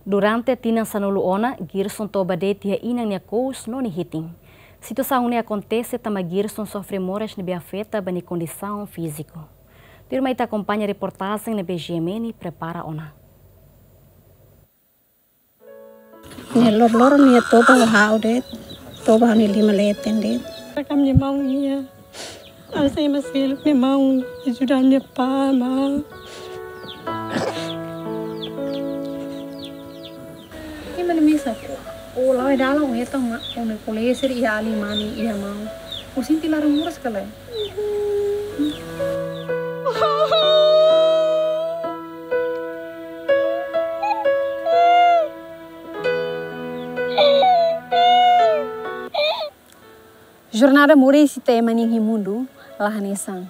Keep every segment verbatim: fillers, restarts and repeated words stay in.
Durante tinan sanulu ona, Girson toba de'it iha inan nia kous no nia hitin. Situasaun ne'e akontese tanba Girson sofre moras ne'ebé afeta ba nia kondisaun fíziku. Tuirmai ita akompaña reportajen ne'ebé G M N prepara ona. Nia loroloron nia toba ha'u de'it, toba ha'u-nia liman leten de'it. Rekam nia maun nia. Asa ema seluk nia maun ajuda nia pá, maun. Ema ne'e mesak. Ó la'o iha dalan ó hetan ó-nia kolega sira iha alin mane iha maun. Ó sente laran moras ka lae? Jornada moris ita ema nian iha mundu la hanesan.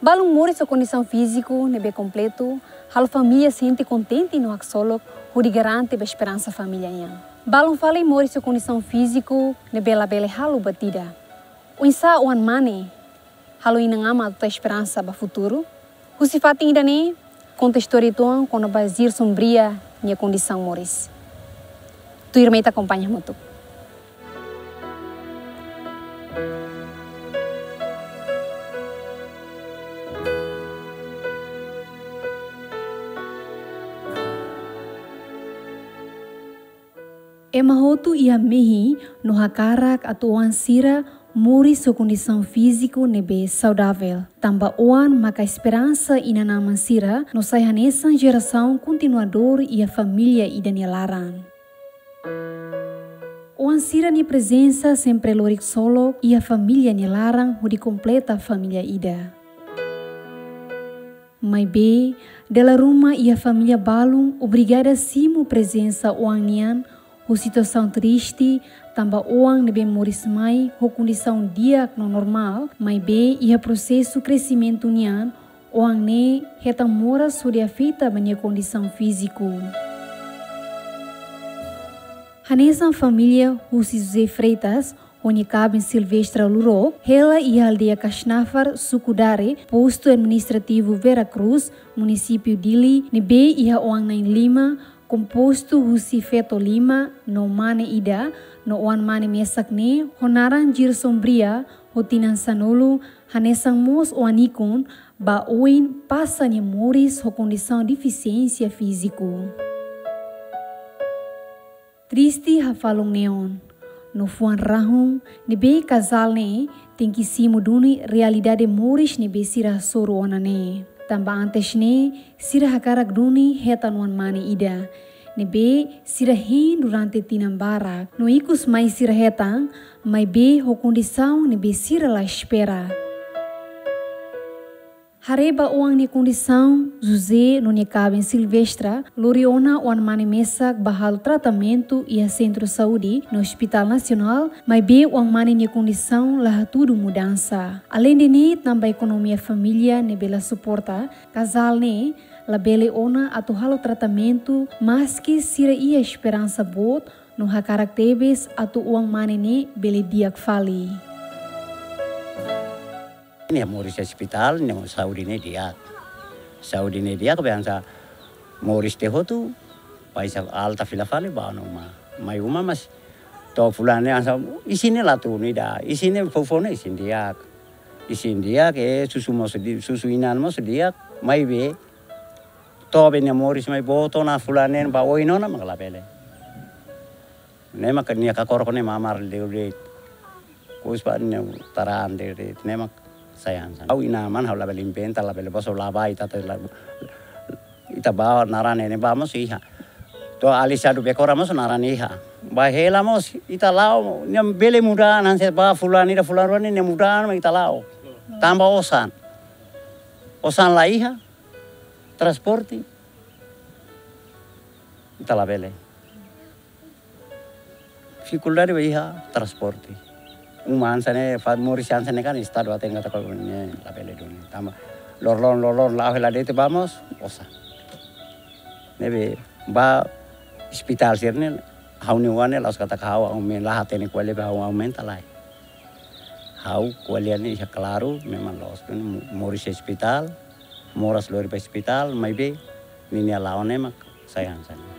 Balun moris ho kondisaun fíziku ne'ebé kompletu halo família sente kontente no haksolok, hodi garante ba esperansa família nian. Balun fali moris ho kondisaun fíziku ne'ebé labele halo buat ida. Oinsá oan-mane halo inan-aman atu tau esperansa ba futuru? Husi fatin ida-ne'e, konta istória uitoan kona-ba Girson Bria nia kondisaun moris. Tuirmai ita akompaña hamutuk. Ema hotu iha mehi no hakarak atu oan sira moris ho kondisaun fíziku ne'ebé saudavel. Tanba oan maka esperansa inan-aman sira no sai hanesan jerasaun kontinuadór iha família ida nia laran. Oan sira-nia prezensa sempre lori ksolok iha família nia laran hodi kompleta família ida. Maibé, dala ruma iha família balun obrigada simu prezensa oan nian ho situasaun triste, tanba oan ne'ebé moris mai ho kondisaun di'ak no normál, maibé iha prosesu kresimentu nian, oan ne'e hetan moras hodi afeta ba nia kondisaun fíziku. Hanesan família husi José Freitas, ho nia kaben Silvestra Lurok, hela iha aldeia Kasnafar, suku Dare, postu administrativu Vera Cruz, munisípiu Dili, ne'ebé iha oan na'in-lima, kompostu husi feto lima no mane ida, no oan-mane mesak ne'e ho naran Girson Bria, ho tinan sanulu, hanesan mós oan ikun, ba oin pasa nia moris ho kondisaun defisiénsia fíziku. Triste hafahlun neon, no fuan rahun ne'ebé kazál ne'e tenke simu duni realidade moris ne'ebé sira hasoru ona ne'e. Tanba antes ne'e, sira hakarak duni hetan oan-mane ida, ne'ebé sira hein durante tinan barak. No ikus mai sira hetan, maibé ho kondisaun ne'ebé sira la espera. Haree ba oan nia kondisaun, José no nia kaben Silvestra lori ona oan-mane mesak ba halo tratamentu iha Sentru Saúde no Hospital Nasionál, maibé oan-mane nia kondisaun la hatudu mudansa. Aleinde ne'e, tanba ekonomia família ne'ebé la suporta, kazál ne'e labele ona atu halo tratamentu, maski sira iha esperansa boot no hakarak tebes atu oan-mane ne'e bele di'ak fali. Nia moris iha ospitál, nia saúde ne'e di'ak. Saúde ne'e di'ak, be hanesan moris tiha hotu, baixa alta fila fali, bá ona uma. Mai uma, mas to'o fulan ne'e hanesan isin ne'e la tun ida. Isin ne'e foufoun ne'e isin di'ak. Isin di'ak, eh, susu mós di-, susu inan mós di'ak, maibé to'o be nia moris mai boot ona fulan neen ba oin ona mak labele. Ne'e mak nia kakorok ne'e mamar deu de'it. Kus ba nia taraan deu de'it. Ne'e mak sai hanesan. Ha'u inan-aman ha'u labele inventa, labele boso labai tata la-, ita ba naran ne'e ba mós iha. To'o alin sadu bekora mós naran iha. Ba hela mós ita la'o, nia bele muda hanesan ba fulan ida fulan rua ne'e nia muda mak ita la'o. Tanba osan. Osan la iha, transporte. Ita labele. Difikuldade ba iha transporte. Uma hanesan ne'e, fa-, moris hanesan ne'e kan estadu hatene katak ne'e labele duni. Tanba loroloron, loroloron la'o hela de'it ba mós osan. Ne'ebé ba ospitál sira-ne'e, ha'u-nia oan ne'e la'ós katak ha'u aumenta, la hatene ko'alia ba ha'u aumenta lai. Ha'u ko'alia ne'e iha klaru, memang loos duni mo-, moris ospitál, moras lori ba ospitál, maibé ninia la'o ne'e mak sai hanesan ne'e.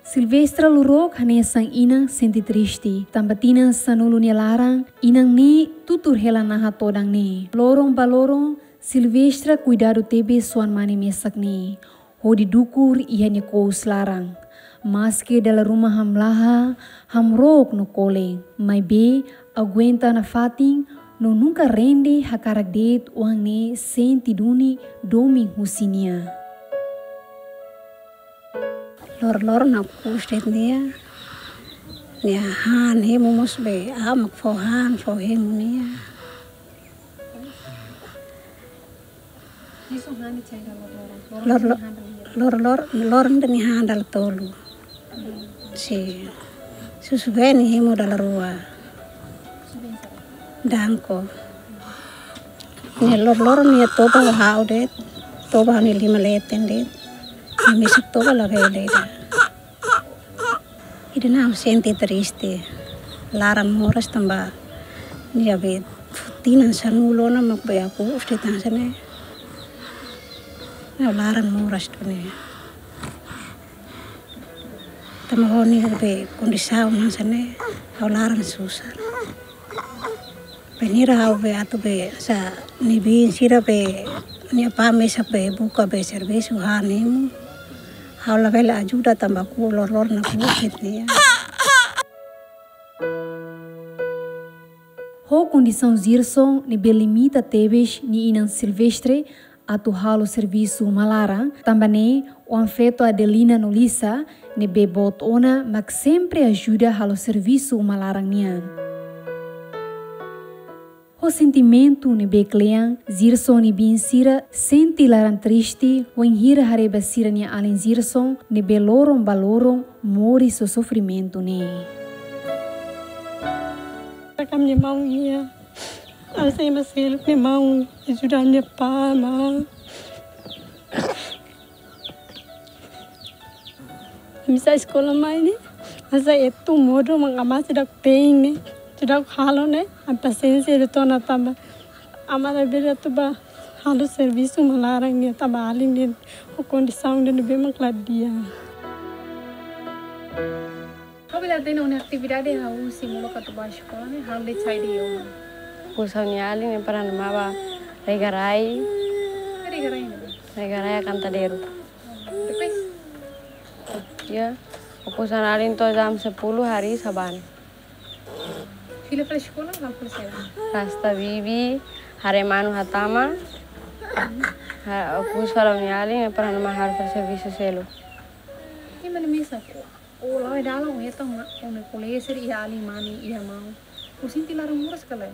Silvestra Lurok hanesan inan sente triste, tanba tinan sanulu nia laran, inan ne'e tutur hela naha todan ne'e. Loron ba loron, Silvestra kuidadu tebes oan-mane mesak ne'e, hodi dukur iha nia kous laran. Maske dala ruma hamlaha, hamrook no kole, maibé aguenta nafatin no nunka rende hakarak de'it oan ne'e sente duni domin husi nia. Lor-, loron ne'e kous de'it nia. Nia han hemu mós be, a'a mak fó han, fó hemu nia. Lor-, lor-, lor-, loron ne'e nia han dala tolu. Sin. Susu be nia hemu dala rua. Danko. Nia lor-, loron nia toba ha'u de'it. Toba ha'u-nia liman leten de'it. Nia mesak toba labele ida. Ida-ne'e ha'u sente triste. Laran moras tanba nia be tinan sanulu ona mak be aku usti tan sene. Ha'u laran moras tu ne. Tanba ho nia be kondisaun hanesan ne'e, ha'u laran susar. Bainhira ha'u be atu be sa nia biin sira be nia apá mesak be buka be servisu han hemu. Ha'u labele ajuda tanba aku lor-, loron ne'e aku fit nia. Ho kondisaun Zirson ne'ebé limita tebes nia inan Silvestre atu halo servisu uma laran, tanba ne'e oan-feto Adelina no Lisa ne'ebé boot ona mak sempre ajuda halo servisu uma laran nian. Ho sentimentu ne'ebé kle'an, Zirson nia biin sira sente laran triste, wainhira haree ba sira-nia alin Zirson ne'ebé loron ba loron moris ho sofrimentu ne'e. Ka minha mão ia. Ha'u sei ema seluk nia mão, ajuda nia apá, amá. Ami sa'e eskola mai ne'e, ami sa'e etu modo mak amá seidauk te'in ne'e, seidauk halo ne'e, ami pasiénsia de'it ona tanba amá labele atu bá halo servisu uma laran ne'e tanba alin ne'e, ho kondisaun ne'ebé mak la di'ak. Ha'u bele hatene ó-nia atividade hahú husi molok atu bá eskola ne'e, halo de'it saida iha uma? Okus ha'u-nia alin ne'e para nama ba rega rai. Rega rai ne'e? Rega rai Cantadero. Depois? Ya, okus ha'u-nia alin to'o jam sepuluh harii sa'e bá ne'e. Fila fali eskola, halo fali saida? Rasta bibi, haree manu hatama. Ha, okus ha'u-nia alin ne'e para nama halo fali servisu seluk. Ema ne'e mesak. Ó la'o iha dalan, ó hetan ona, ó-nia kolega sira iha alin mane, iha maun. Ó sente laran moras ka lae?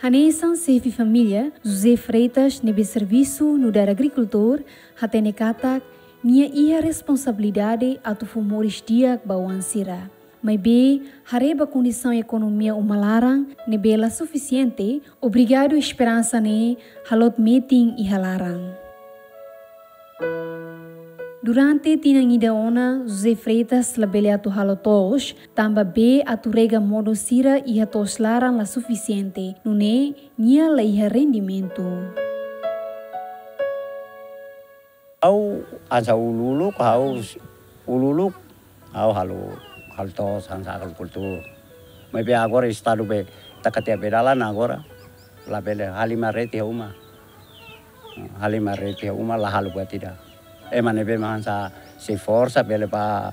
Hanesan xefe família, José Freitas, ne'ebé servisu nu'udar agrikultór, hatene katak nia iha responsabilidade atu fó moris di'ak ba oan sira. Maibé, haree ba kondisaun ekonomia uma laran ne'ebé la sufisiente, obrigadu esperansa ne'e halot metin iha laran. Durante tinan ida ona, José Freitas labele atu halo to'os, tanba bee atu rega modo sira iha to'os laran la sufisiente, nune'e nia la iha rendimentu. Ha'u hanesan uluk-uluk, ha'u uluk-uluk, ha'u halo, halo to'os, hanesan agrikultór. Maibé agora estadu be taka tiha bee dalan agora, labele, halimar reti iha uma. Halimar reti iha uma la halo buat ida. Ema ne'ebé mak hanesan sei forsa bele bá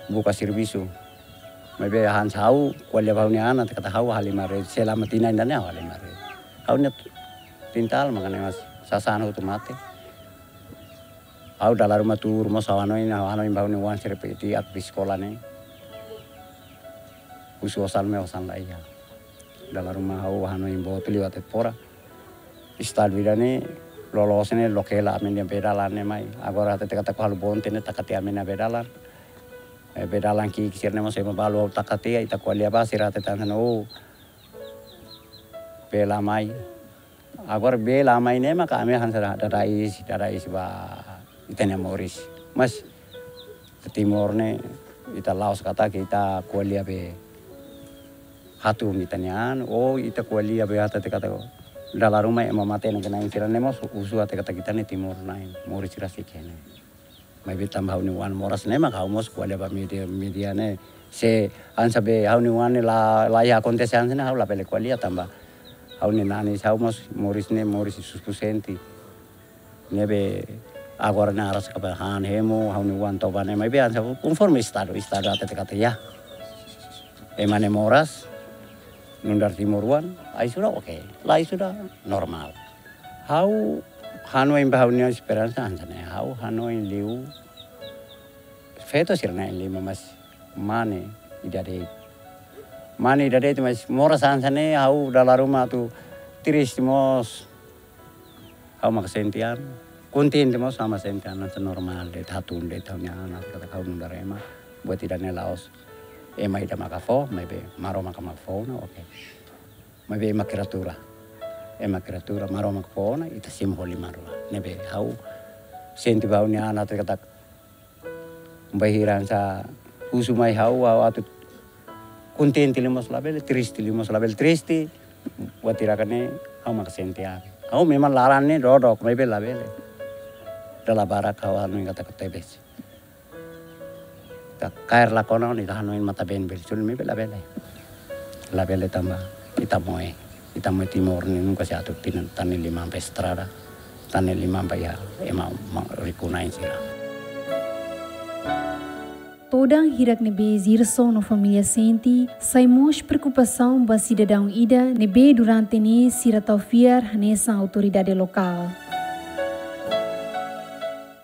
buka servisu. Maibé hanesan ha'u, ko'alia ba ha'u-nia aman, katak ha'u halimar reti, selama tinan ida-ne'e ha'u halimar reti. Ha'u-nia kintal mak ne'e mós sasán hotu mate. Ha'u dala ruma tuur mós ha'u hanoin, ha'u hanoin ba ha'u-nia oan sira pe atu bá eskola ne'e. Husu osan ne'e osan la iha. Dala ruma ha'u hanoin boot liu atu fora. Estadu ida-ne'e loloos ne'e loke hela ami-nia bee dalan ne'e mai. Agora hatete katak halo bonte ne'e taka tiha ami-nia bee dalan. Eh, bee dalan ki'ik sira-ne'e mós ema balu ha'u taka tiha, ita ko'alia ba sira hatete hanesan ne'e, oh, bee la mai. Agora bee la mai ne'e maka ami hanesan dada iis, dada iis ba ita-nia moris. Mas Timor ne'e ita la'ós katak ita ko'alia be hatún ita-nia an, ou ita ko'alia be hatete katak dala ruma ema matenek-na'in sira-ne'e mós husu hatete katak ita ne'e Timor-na'in, moris sira sei iha ne'e. Maibé tanba ha'u-nia oan moras ne'e maka ha'u mós ko'alia ba media, media ne'e. Se hanesan be ha'u-nia oan ne'e la, la iha akontese hanesan ne'e ha'u labele ko'alia tanba ha'u-nia nanis ha'u mós moris ne'e moris susku sente. Ne'ebé agora ne'e araska ba han hemu, ha'u-nia oan toba ne'e, maibé hanesan konforme estadu, estadu hatete katak iha ema ne'e moras, nu'udar timoroan, ai sudah oke, la ai sudah normal. Ha'u hanoin ba ha'u-nia esperansa hanesan ne'e, ha'u hanoin liu feto sira-na'in lima mas mane ida de'it. Mane ida de'it mas moras hanesan ne'e ha'u dala ruma atu triste mós. Ha'u maka sente an, kontente mós, ha'u maka sente an hanesan normál de'it, hatún de'it ha'u-nia an, katak ha'u nu'udar ema, buat ida-ne'e la'ós ema ida maka fó, maibé Maromak maka fó ona, oke. Maibé ema kriatura. Ema kriatura, Maromak fó ona, ita simu ho liman rua. Ne'ebé ha'u sente ba ha'u-nia an hatete katak bainhira hanesan husu mai ha'u, ha'u atu kontente liu mós labele, triste liu mós labele, triste. Buat ida-ne'e ha'u maka sente an. Ha'u memang laran ne'e dodok, maibé labele. Dala barak ha'u hanoin katak tebes. Ka kaer la kona, ita hanoin matan-been bele sunu, maibé labele. Labele tanba ita moe. Ita moe Timor ne'e nunka sei atu tinan tan ne'e liman ba estrada, tan ne'e liman ba iha ema ma-, riku-na'in sira. Todan hirak ne'ebé Zirson no família sente, sai mós preokupasaun ba sidadaun ida ne'ebé durante ne'e sira tau fiar hanesan autoridade lokál.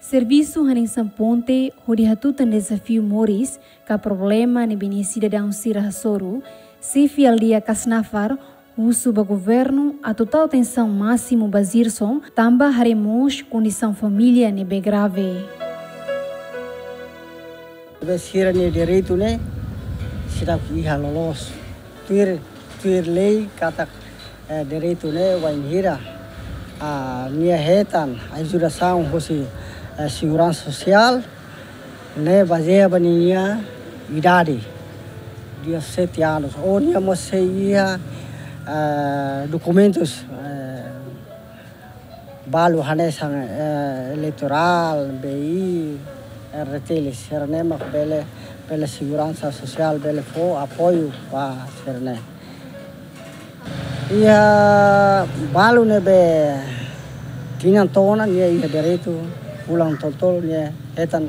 Servisu hanesan ponte hodi hatutan dezafiu moris ka problema ne'ebé nia sidadaun sira hasoru, xefe aldeia Kasnafar husu ba governu atu tau atensaun másimu ba Zirson, tanba haree mós kondisaun família ne'ebé grave. Be sira-nia direitu ne'e seidauk iha loloos. Tuir, tuir lei katak, eh, direitu ne'e wainhira, ah, nia hetan ajudasaun hosi, eh, seguransa sosiál, ne'e bazeia ba ninia idade, dezassete anos. Ou nia mós sei iha, eh, dokumentus, eh, balu hanesan, eh, eleitorál, B I, R T L, sira-ne'e mak bele, bele seguransa sosiál, bele fó apoiu ba sira-ne'e. Iha balu ne'ebé tinan to'o ona nia iha direitu fulan tolu-tolu nia hetan,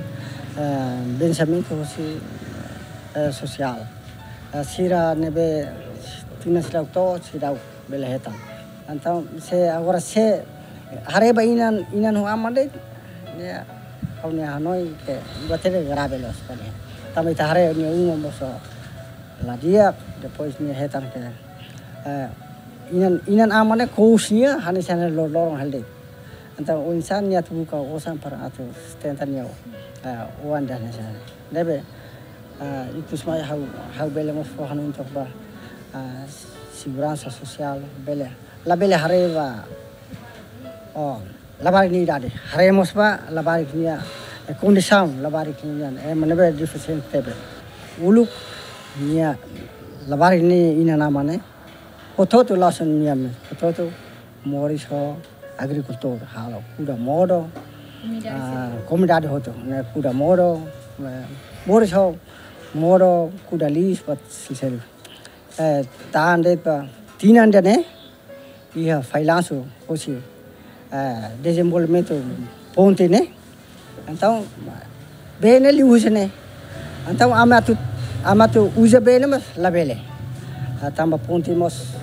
eh, vensimentu hosi, eh, sosiál. Eh, sira ne'ebé tinan seidauk to'o, seidauk bele hetan. Entaun, se agora se haree ba inan, inan ho aman de'it, ya, ha'u-nia hanoin ke buat ne'e grave loos ba nia. Tanba ita haree nia uma mós la di'ak, depois nia hetan ke, eh, inan, inan aman ne'e kous nia, hanesan lor-loron hela de'it. Entaun, oinsá nia atu buka osan para atu sustenta nia, eh, oan ida hanesan ne'e. Ne'ebé, eh, ikus mai ha'u, ha'u bele mós fó hanoin took ba, eh, seguransa sosiál, bele. Labele haree ba, oh, labarik nia idade. Haree mós ba labarik nia, eh, kondisaun labarik nia, eh, ema ne'ebé defisiente tebes. Uluk nia labarik nia inan-aman ne'e hotu-hotu la'ós nia mes. Hotu-hotu moris ho agrikultór, halo kuda modo, komunidade, ah, sira, komunidade hotu, ne'e kuda modo, eh, moris ho modo, kuda liis, buat sira seluk. Eh, tan de'it ba tinan ida-ne'e, iha fallansu hosi, eh, dezenvolvimentu ponte ne'e. Entaun, bee ne'e liu husi ne'e. Entaun, ami atu, ami atu uza bee ne'e mós labele. Ah, tanba ponte mós,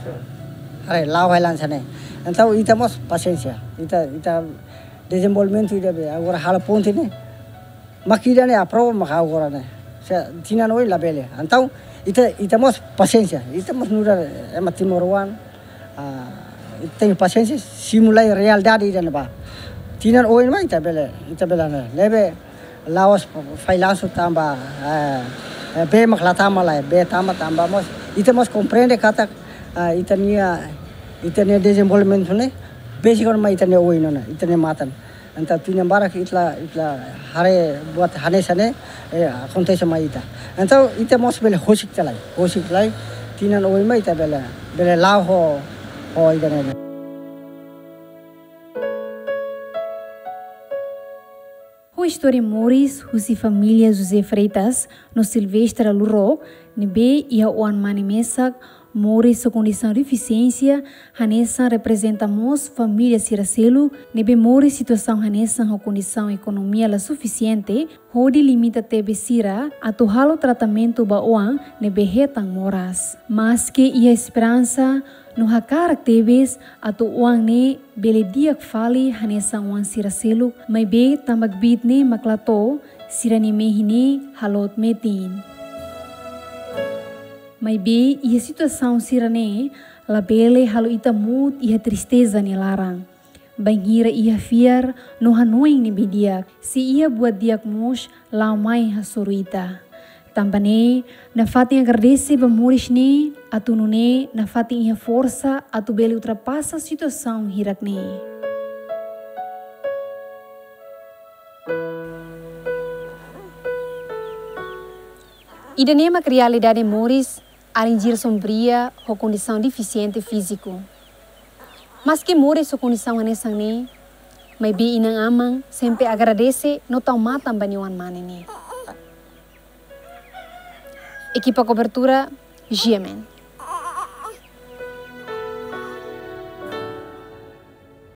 haree la'o hela hanesan ne'e. Entaun, ita mós pasiénsia. Ita, ita dezenvolvimentu ida be, agora halo ponte ne'e. Mak ida-ne'e aprova mak agora ne'e. Se tinan oin labele. Entaun, Ita, ita mós pasiénsia, ita mós nu'udar ema timoroan, ah, ita tenke pasiénsia, simu lai realidade ida-ne'ebá. Tinan oin mai ita bele, ita bele ne'e. Ne'ebé la'ós failansu tanba, eh, eh, bee mak la tama lai, bee tama tanba mós. Ita mós komprende katak, ah, ita-nia, ita-nia dezenvolvimentu ne'e besik ona mai ita-nia oin ona, ita-nia matan. Entaun tinan barak ita la, ita la haree buat hanesan ne'e, eh, akontese mai ita. Entaun ita mós bele husik tiha lai, husik tiha lai, tinan oin mai ita bele, bele la'o ho, ho ida-ne'e. Ho istória moris husi família José Freitas no Silvestre Luro, ne'ebé iha oan-mane mesak, moris ho kondisaun defisiénsia hanesan reprezenta mós família sira seluk ne'ebé moris situasaun hanesan ho kondisaun ekonomia la sufisiente, hodi limita tebes sira atu halo tratamentu ba oan ne'ebé hetan moras. Maske iha esperansa no hakarak tebes atu oan ne'e bele di'ak fali hanesan oan sira seluk, maibé tanba kbiit ne'e mak la to'o, sira-nia mehi ne'e haloot metin. Maibé iha situasaun sira-ne'e labele halo ita muut iha tristeza nia laran. Bainhira iha fiar no hanoin ne'ebé di'ak, se iha buat di'ak mós la'o mai hasoru ita. Tanba ne'e, nafatin agradese ba moris ne'e, atu nune'e nafatin iha forsa atu bele ultrapasa situasaun hirak ne'e. Ida-ne'e mak realidade moris alin Gilson Bria ho kondisaun defisiente fíziku. Maske moris ho kondisaun hanesan ne'e, maibé inan-aman sempre agradese no tau matan ba nia oan-mane ne'e. Ekipa kobertura, G M N.